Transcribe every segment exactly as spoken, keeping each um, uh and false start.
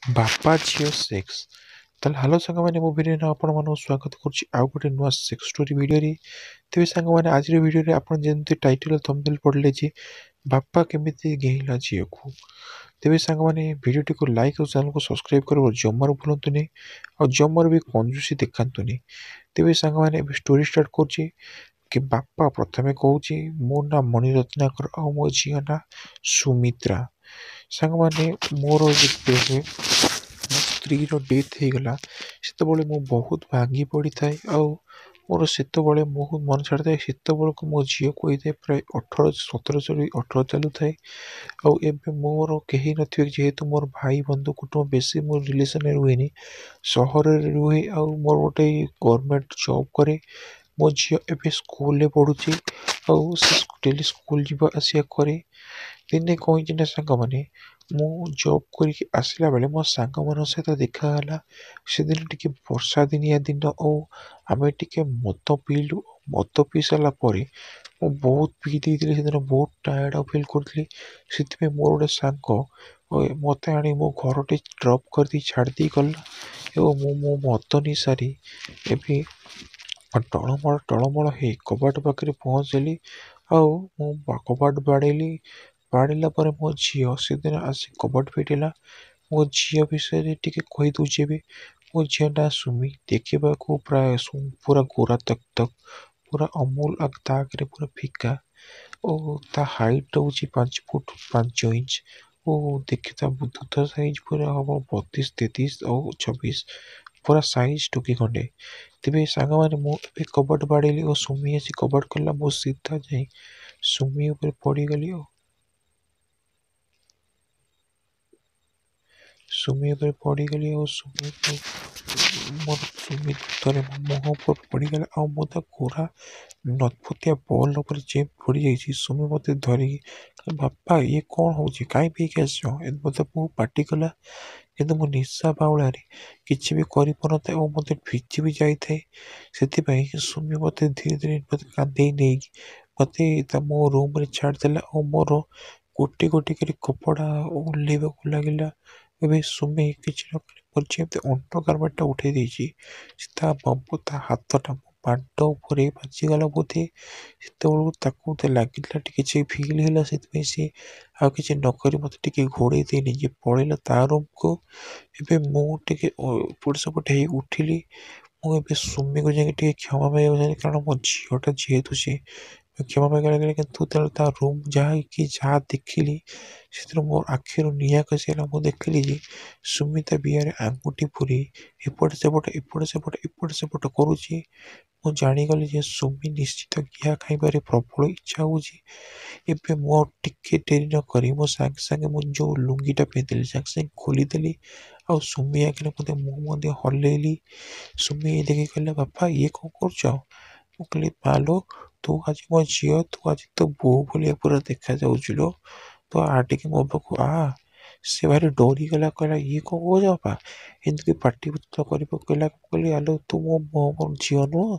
ବାପା ଝିଅ ସେକ୍ସ। ତାହେଲେ ହ୍ୟାଲୋ ସାଙ୍ଗମାନେ, ମୋ ଭିଡ଼ିଓରେ ଆପଣମାନଙ୍କୁ ସ୍ୱାଗତ କରୁଛି ଆଉ ଗୋଟେ ନୂଆ ସେକ୍ସ ଷ୍ଟୋରି ଭିଡ଼ିଓରେ। ତେବେ ସାଙ୍ଗମାନେ, ଆଜିର ଭିଡ଼ିଓରେ ଆପଣ ଯେମିତି ଟାଇଟଲ୍ ଥମ୍ବନେଲ୍ ପଢ଼ିଲେ ଯେ ବାପା କେମିତି ଗେହିଲା ଝିଅକୁ। ତେବେ ସାଙ୍ଗମାନେ, ଭିଡ଼ିଓଟିକୁ ଲାଇକ୍ ଆଉ ଚ୍ୟାନେଲକୁ ସବସ୍କ୍ରାଇବ୍ କରିବାକୁ ଜମାରୁ ଭୁଲନ୍ତୁନି ଆଉ ଜମାରୁ ବି କଞ୍ଜୁସି ଦେଖାନ୍ତୁନି। ତେବେ ସାଙ୍ଗମାନେ, ଏବେ ଷ୍ଟୋରି ଷ୍ଟାର୍ଟ କରୁଛି କି ବାପା ପ୍ରଥମେ କହୁଛି, ମୋ ନାଁ ମଣିରତ୍ନାକର ଆଉ ମୋ ଝିଅ ନାଁ ସୁମିତ୍ରା। ସାଙ୍ଗମାନେ, ମୋର ଯେତେବେଳେ ମୋ ସ୍ତ୍ରୀର ଡେଥ୍ ହେଇଗଲା, ସେତେବେଳେ ମୁଁ ବହୁତ ଭାଙ୍ଗି ପଡ଼ିଥାଏ ଆଉ ମୋର ସେତେବେଳେ ବହୁତ ମନ ଛାଡ଼ିଥାଏ। ସେତେବେଳକୁ ମୋ ଝିଅକୁ ହେଇଥାଏ ପ୍ରାୟ ଅଠର, ସତର ସରି ଅଠର ଚାଲୁଥାଏ। ଆଉ ଏବେ ମୋର କେହି ନଥିବେ, ଯେହେତୁ ମୋର ଭାଇ ବନ୍ଧୁ କୁଟୁମ୍ବ ବେଶୀ ମୋ ରିଲେସନ୍ରେ ରୁହେନି, ସହରରେ ରୁହେ ଆଉ ମୋର ଗୋଟେ ଗଭର୍ଣ୍ଣମେଣ୍ଟ ଜବ୍ କରେ। ମୋ ଝିଅ ଏବେ ସ୍କୁଲରେ ପଢ଼ୁଛି ଆଉ ସେ ଡେଲି ସ୍କୁଲ ଯିବା ଆସିବା କରେ। ଦିନେ କ'ଣ ହେଇଛି ନା ସାଙ୍ଗମାନେ, ମୁଁ ଜବ୍ କରିକି ଆସିଲା ବେଳେ ମୋ ସାଙ୍ଗମାନଙ୍କ ସହିତ ଦେଖାହେଲା। ସେଦିନ ଟିକେ ବର୍ଷା ଦିନିଆ ଦିନ ଆଉ ଆମେ ଟିକେ ମଦ ପିଇଲୁ। ମଦ ପିଇ ସାରିଲା ପରେ ମୁଁ ବହୁତ ପିଇ ଦେଇଥିଲି ସେଦିନ, ବହୁତ ଟାୟାର୍ଡ଼ ଫିଲ୍ କରୁଥିଲି। ସେଥିପାଇଁ ମୋର ଗୋଟେ ସାଙ୍ଗ ମୋତେ ଆଣି ମୋ ଘରଟି ଡ୍ରପ୍ କରିଦେଇ ଛାଡ଼ି ଦେଇ ଗଲା ଏବଂ ମୁଁ ମୋ ମଦ ନିଶାରେ ଏବେ ଟଳମଳ ଟଳମଳ ହେଇ କବାଟ ପାଖରେ ପହଞ୍ଚିଲି ଆଉ ମୁଁ କବାଟ ବାଡ଼େଇଲି। ବାଡ଼େଇଲା ପରେ ମୋ ଝିଅ ସେଦିନ ଆସି କବାଟ ଫିଟିଲା। ମୋ ଝିଅ ବିଷୟରେ ଟିକେ କହିଦେଉଛି ଏବେ। ମୋ ଝିଅ ନାଁ ସୁମି, ଦେଖିବାକୁ ପ୍ରାୟ ପୁରା ଗୋରା ତକ୍ ତକ୍, ପୁରା ଅମୁଲ ତା ଆଗରେ ପୁରା ଫିକା ଓ ତା ହାଇଟ୍ ହେଉଛି ପାଞ୍ଚ ଫୁଟ ପାଞ୍ଚ ଇଞ୍ଚ ଓ ଦେଖି ତା ଦୁଧ ସାଇଜ୍ ପୁରା ହେବ ବତିଶ, ତେତିଶ ଆଉ ଛବିଶ, ପୁରା ସାଇଜ୍ ଟୋକି ଖଣ୍ଡେ। ତେବେ ସାଙ୍ଗମାନେ, ମୁଁ ଏବେ କବାଟ ବାଡ଼େଇଲି ଓ ସୁମି ଆସି କବାଟ ଖୋଲିଲା। ମୁଁ ସିଧା ଯାଇ ସୁମି ଉପରେ ପଡ଼ିଗଲି ଓ ସୁମି ଉପରେ ପଡ଼ିଗଲି ଆଉ ସୁମିକୁ ମୋର ସୁମି ଦୁଧରେ ମୋ ମୁହଁ ଉପରେ ପଡ଼ିଗଲା ଆଉ ମୁଁ ତା ଗୋରା ନତପତିଆ ବଲ୍ ଉପରେ ଯେମିତି ପଡ଼ିଯାଇଛି। ସୁମି ମୋତେ ଧରିକି, ବାପା ଇଏ କ'ଣ ହେଉଛି, କାହିଁ ପିଇକି ଆସିଛ, ମୋତେ ବହୁତ ପାଟି କଲା। କିନ୍ତୁ ମୁଁ ନିଶା ବାଉଳାରେ କିଛି ବି କରିପାରୁନଥାଏ ଓ ମୋତେ ଭିଜି ବି ଯାଇଥାଏ। ସେଥିପାଇଁ ସୁମି ମୋତେ ଧୀରେ ଧୀରେ ମୋତେ କାନ୍ଧେଇ ନେଇକି ମୋତେ ତା ମୋ ରୁମ୍ରେ ଛାଡ଼ିଦେଲା ଆଉ ମୋର ଗୋଟି ଗୋଟି କରି କପଡ଼ା ଓହ୍ଲେଇବାକୁ ଲାଗିଲା। ଏବେ ସୁମି କିଛି ନ କରି ମୋର ଯେମିତି ଅଣ୍ଡର ଗାର୍ମେଣ୍ଟଟା ଉଠେଇ ଦେଇଛି, ସେ ତା ବାବୁ ତା ହାତଟା ମୋ ପାଣ୍ଟ ଉପରେ ବାଜିଗଲା ବୋଧେ। ସେତେବେଳକୁ ତାକୁ ମୋତେ ଲାଗିଲା ଟିକେ କିଛି ଫିଲ୍ ହେଲା, ସେଥିପାଇଁ ସିଏ ଆଉ କିଛି ନକରି ମୋତେ ଟିକେ ଘୋଡ଼େଇ ଦେଇ ନିଜେ ପଳେଇଲା ତା ରୁମ୍କୁ। ଏବେ ମୁଁ ଟିକେ ଏପଟ ସେପଟ ହେଇ ଉଠିଲି। ମୁଁ ଏବେ ସୁମିକୁ ଯାଇକି ଟିକେ କ୍ଷମା ମାଗିବାକୁ ଚାହିଁଲି, କାରଣ ମୋ ଝିଅଟା ଯେହେତୁ ସିଏ କ୍ଷମା ମାଗିବାକୁ ଲାଗିଲା। କିନ୍ତୁ ତେଣୁ ତା ରୁମ୍ ଯାଇକି ଯାହା ଦେଖିଲି, ସେଥିରୁ ମୋ ଆଖିରୁ ନିଆଁ ଖସିଗଲା। ମୁଁ ଦେଖିଲି ଯେ ସୁମି ତା ବିଆରେ ଆଙ୍ଗୁଠି ପୂରେଇ ଏପଟ ସେପଟ ଏପଟ ସେପଟ ଏପଟ ସେପଟ କରୁଛି। ମୁଁ ଜାଣିଗଲି ଯେ ସୁମି ନିଶ୍ଚିତ ଘିଆ ଖାଇବାରେ ପ୍ରବଳ ଇଚ୍ଛା ହେଉଛି। ଏବେ ମୁଁ ଆଉ ଟିକେ ଡେରି ନକରି ମୁଁ ସାଙ୍ଗେ ସାଙ୍ଗେ ମୁଁ ଯେଉଁ ଲୁଙ୍ଗିଟା ପିନ୍ଧିଥିଲି ସାଙ୍ଗେ ସାଙ୍ଗେ ଖୋଲିଦେଲି ଆଉ ସୁମି ଆଗରେ ମୋତେ ମୁଁ ମଧ୍ୟ ହଲେଇଲି। ସୁମି ଦେଖି କହିଲା, ବାପା ଇଏ କ'ଣ କରୁଛ? ମୁଁ କହିଲି, ମାଲୋ ତୁ ଆଜି ମୋ ଝିଅ, ତୁ ଆଜି ତୋ ବୋଉ ଭଳିଆ ପୁରା ଦେଖାଯାଉଛୁ ଲୋ, ତୁ ଆ ଟିକେ ମୋ ପାଖକୁ ଆ। ସେ ଭାରି ଡରିଗଲା, କହିଲା ଇଏ କ'ଣ କହୁଛ ବାପା, ଏମିତି ପାଟି କରି ପକେଇଲା। ମୁଁ କହିଲି, ଆଲୋ ତୁ ମୋ ମୋ ଝିଅ ନୁହଁ,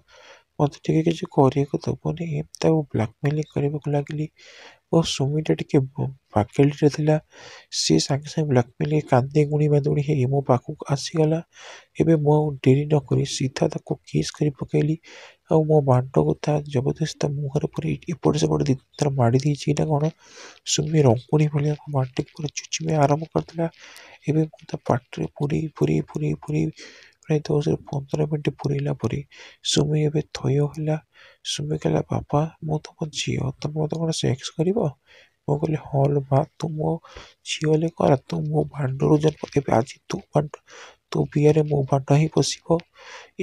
ମୋତେ ଟିକେ କିଛି କରିବାକୁ ଦେବନି? ଏମିତି ତାକୁ ବ୍ଲାକମେଲିଂ କରିବାକୁ ଲାଗିଲି ଓ ସୁମିଟା ଟିକେ ପାଗେଳିରେ ଥିଲା। ସିଏ ସାଙ୍ଗେ ସାଙ୍ଗେ ବ୍ଲାକମେଲିଂ କାନ୍ଦି ଗୁଣି ବାନ୍ଧୁଣି ହେଇ ମୋ ପାଖକୁ ଆସିଗଲା। ଏବେ ମୁଁ ଆଉ ଡେରି ନକରି ସିଧା ତାକୁ କିସ୍ କରି ପକେଇଲି ଆଉ ମୋ ବାଣ୍ଟକୁ ତା ଜବରଦସ୍ତି ତା ମୁହଁରେ ପୁରେଇ ଏପଟ ସେପଟ ଦୁଇ ଥର ମାଡ଼ି ଦେଇଛି ନା କ'ଣ, ସୁମି ରଙ୍ଗୁଣି ଭଳିଆ ମୋ ବାଣ୍ଟିକୁ ପୁରା ଚୁଚୁମିବା ଆରମ୍ଭ କରିଦେଲା। ଏବେ ମୁଁ ତା ପାଟିରେ ପୁରେଇ ପୁରେଇ ପୁରେଇ ପୁରେଇ ପ୍ରାୟ ଦଶରୁ ପନ୍ଦର ମିନିଟ୍ ପୁରେଇଲା ପରେ ସୁମି ଏବେ ଥୟ ହେଲା। ସୁମି କହିଲା, ବାପା ମୁଁ ତୁମ ଝିଅ, ତୁମେ ମୋତେ କ'ଣ ସେକ୍ସ କରିବ? ମୁଁ କହିଲି, ହଁ ଲୋ ମା, ତୁ ମୋ ଝିଅ ହେଲେ କ'ଣ, ତୁ ମୋ ଭାଣ୍ଡରୁ ଜନ୍ମ, ଏବେ ଆଜି ତୁ ଭାଣ୍ଡ ତୋ ବିଆରେ ମୋ ଭାଣ୍ଡ ହିଁ ପଶିବ।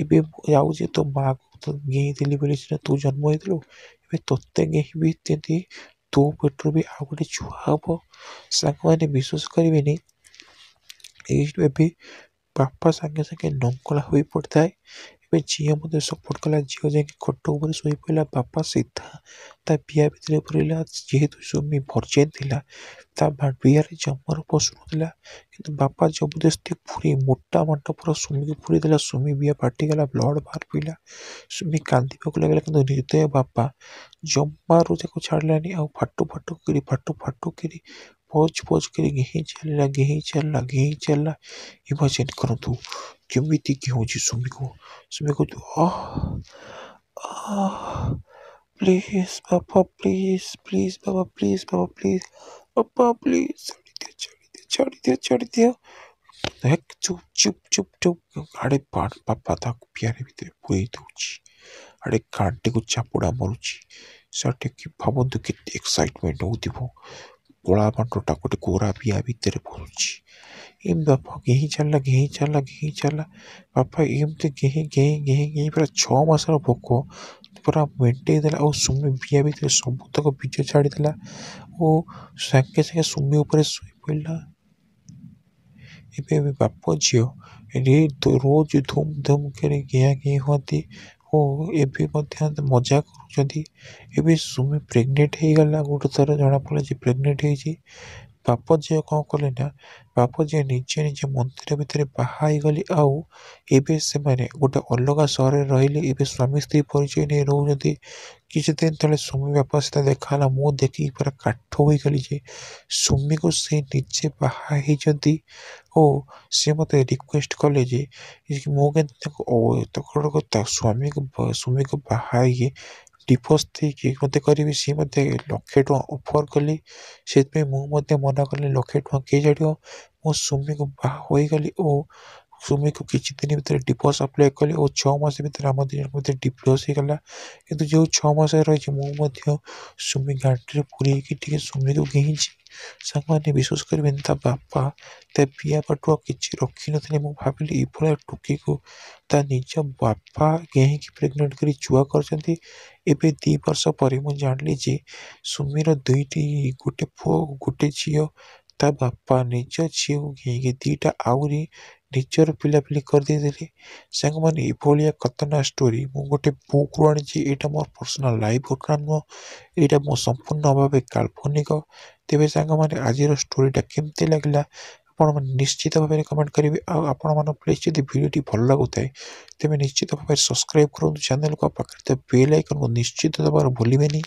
ଏବେ ମୁଁ ଯାଉଛି, ତୋ ମାଆକୁ ତ ଗେହିଁଥିଲି ବୋଲି ସିନା ତୁ ଜନ୍ମ ହେଇଥିଲୁ, ଏବେ ତୋତେ ଗେହିଁବି ଯେମିତି ତୋ ପେଟରୁ ବି ଆଉ ଗୋଟେ ଛୁଆ ହେବ। ସାଙ୍ଗମାନେ, ବିଶ୍ୱାସ କରିବେନି, ଏଇ ଏବେ ବାପା ସାଙ୍ଗେ ସାଙ୍ଗେ ନଙ୍ଗଳା ହୋଇ ପଡ଼ିଥାଏ। ଏବେ ଝିଅ ମୋତେ ସପୋର୍ଟ କଲା। ଝିଅ ଯାଇକି ଖଟ ଉପରେ ଶୋଇପଡ଼ିଲା। ବାପା ସିଧା ତା ବିଆ ଭିତରେ ପୁରେଇଲା। ଯେହେତୁ ସୁମି ଭର୍ଜିନ୍ ଥିଲା, ତା ବିଆରେ ଜମାରୁ ପଶୁନଥିଲା, କିନ୍ତୁ ବାପା ଜବରଦସ୍ତି ପୁରେଇ ମୋଟା ମାଣ୍ଟ ପୁରା ସୁମିକୁ ପୁରେଇ ଦେଲା। ସୁମି ବିଆ ଫାଟିଗଲା, ବ୍ଲଡ଼ ବାହାରି ପଡ଼ିଲା, ସୁମି କାନ୍ଦିବାକୁ ଲାଗିଲା। କିନ୍ତୁ ନିର୍ଦ୍ଦୟ ବାପା ଜମାରୁ ତାକୁ ଛାଡ଼ିଲାନି ଆଉ ଫାଟୁ ଫାଟୁ କରି ଫାଟୁ ଫାଟୁ କରି ପୋଜ ପୋଜ କରି ଗେହିଁ ଚାଲିଲା, ଗେହିଁ ଚାଲିଲା, ଗେହିଁ ଚାଲିଲା। ଇମାଜିନ୍ କରନ୍ତୁ କେମିତି ଗେହୁଁଛି ସୁମିକୁ। ସୁମି କହୁଛି, ଆହ ଆହ, ପ୍ଲିଜ୍ ବାପା, ପ୍ଲିଜ୍ ପ୍ଲିଜ୍ ବାବା, ପ୍ଲିଜ୍ ବାବା, ପ୍ଲିଜ୍ ବାପା, ପ୍ଲିଜ୍, ଛାଡ଼ିଦିଅ, ଛାଡ଼ିଦିଅ, ଛାଡ଼ିଦିଅ, ଛାଡ଼ିଦିଅ। ହେକ୍, ଚୁପ୍ ଚୁପ୍ ଚୁପ୍ ଚୁପ୍। ଆଡ଼େ ବାପା ତାକୁ ପିଆରେ ଭିତରେ ପୁରେଇ ଦେଉଛି, ଆଡ଼େ ଗାଣ୍ଡିକୁ ଚାପୁଡ଼ା ମାରୁଛି। ସେଠି ଭାବନ୍ତୁ କେତେ ଏକ୍ସାଇଟମେଣ୍ଟ ହେଉଥିବ। କଳା ବାଣ୍ଡଟା ଗୋଟେ ଗୋରା ବିଆ ଭିତରେ ପଶୁଛି। ଏମିତି ବାପା ଗେହିଁ ଚାଲିଲା, ଗେହିଁ ଚାଲିଲା, ଗେହିଁ ଚାଲିଲା। ବାପା ଏମିତି ଗେହିଁ ଗେହିଁ ଗେହିଁ ଗେହିଁ ପୁରା ଛଅ ମାସର ଭୋକ ପୁରା ମେଣ୍ଟେଇ ଦେଲା, ଆଉ ସୁମି ବିଆ ଭିତରେ ସବୁତକ ବୀଜ ଛାଡ଼ିଦେଲା ଓ ସାଙ୍ଗେ ସାଙ୍ଗେ ସୁମି ଉପରେ ଶୋଇ ପଡ଼ିଲା। ଏବେ ଏବେ ବାପ ଝିଅ ରୋଜ ଧୁମ୍ ଧୁମ୍ କରି ଗିଆଁ ଗିଁ ହୁଅନ୍ତି ଓ ଏବେ ମଧ୍ୟ ମଜା କରୁଛନ୍ତି। ଏବେ ସୁମି ପ୍ରେଗନେଣ୍ଟ ହେଇଗଲା। ଗୋଟେ ଥର ଜଣାପଡ଼ିଲା ଯେ ପ୍ରେଗନେଣ୍ଟ ହେଇଛି। ବାପ ଝିଅ କ'ଣ କଲେ ନା, ବାପ ଝିଅ ନିଜେ ନିଜେ ମନ୍ଦିର ଭିତରେ ବାହା ହେଇଗଲେ, ଆଉ ଏବେ ସେମାନେ ଗୋଟେ ଅଲଗା ସହରରେ ରହିଲେ। ଏବେ ସ୍ୱାମୀ ସ୍ତ୍ରୀ ପରିଚୟ ନେଇ ରହୁଛନ୍ତି। କିଛି ଦିନ ତଳେ ସୁମି ବାପା ସହିତ ଦେଖା ହେଲା। ମୁଁ ଦେଖିକି ପୁରା କାଠ ହୋଇଗଲି ଯେ ସୁମିକୁ ସେ ନିଜେ ବାହା ହେଇଛନ୍ତି, ଓ ସେ ମୋତେ ରିକ୍ୱେଷ୍ଟ କଲେ ଯେ ମୁଁ କେମିତି ତାଙ୍କୁ ତା ସ୍ୱାମୀକୁ ସୁମିକୁ ବାହା ହେଇକି ଡିଭୋର୍ସ ଦେଇକି ମୋତେ କରିବି। ସିଏ ମୋତେ ଲକ୍ଷେ ଟଙ୍କା ଅଫର୍ କଲେ। ସେଥିପାଇଁ ମୁଁ ମଧ୍ୟ ମନା କଲି, ଲକ୍ଷେ ଟଙ୍କା କିଏ ଛାଡ଼ିବ? ମୁଁ ସୁମିକୁ ବାହା ହୋଇଗଲି ଓ ସୁମିକୁ କିଛି ଦିନ ଭିତରେ ଡିଭୋର୍ସ ଆପ୍ଲାଏ କଲି, ଓ ଛଅ ମାସ ଭିତରେ ଆମ ଦୁଇ ଜଣଙ୍କ ଭିତରେ ଡିଭୋର୍ସ ହେଇଗଲା। କିନ୍ତୁ ଯେଉଁ ଛଅ ମାସ ରହିଛି, ମୁଁ ମଧ୍ୟ ସୁମି ଗାଣ୍ଡିରେ ପୁରେଇକି ଟିକେ ସୁମିକୁ ଗେହିଁଛି। ସାଙ୍ଗମାନେ, ବିଶ୍ୱାସ କରିବେନି, ତା ବାପା ତା ବିଆ ପାଟୁଆ କିଛି ରଖିନଥିଲେ। ମୁଁ ଭାବିଲି ଏଭଳିଆ ଟୋକିକୁ ତା ନିଜ ବାପା ଗେହିଁକି ପ୍ରେଗନେଣ୍ଟ କରି ଛୁଆ କରିଛନ୍ତି। ଏବେ ଦୁଇ ବର୍ଷ ପରେ ମୁଁ ଜାଣିଲି ଯେ ସୁମିର ଦୁଇଟି, ଗୋଟେ ପୁଅ ଗୋଟେ ଝିଅ। ତା ବାପା ନିଜ ଝିଅକୁ ଗେହିଁକି ଦୁଇଟା ଆହୁରି ନିଜର ପିଲାପିଲି କରିଦେଇଥିଲେ। ସାଙ୍ଗମାନେ, ଏଭଳିଆ ଖତରନାକ ଷ୍ଟୋରି ମୁଁ ଗୋଟେ ବୁକ୍ରୁ ଆଣିଛି। ଏଇଟା ମୋର ପର୍ସନାଲ୍ ଲାଇଫ୍ ଘଟଣା ନୁହଁ, ଏଇଟା ମୋ ସମ୍ପୂର୍ଣ୍ଣ ଭାବେ କାଳ୍ପନିକ। ତେବେ ସାଙ୍ଗମାନେ, ଆଜିର ଷ୍ଟୋରିଟା କେମିତି ଲାଗିଲା ଆପଣମାନେ ନିଶ୍ଚିତ ଭାବରେ କମେଣ୍ଟ କରିବେ, ଆଉ ଆପଣମାନଙ୍କ ପ୍ଲିଜ୍ ଯଦି ଭିଡ଼ିଓଟି ଭଲ ଲାଗୁଥାଏ ତେବେ ନିଶ୍ଚିତ ଭାବରେ ସବସ୍କ୍ରାଇବ୍ କରନ୍ତୁ ଚ୍ୟାନେଲକୁ, ଆଉ ପାଖରେ ଥିବା ବେଲ୍ ଆଇକନ୍କୁ ନିଶ୍ଚିତ ଦେବାର ଭୁଲିବେନି।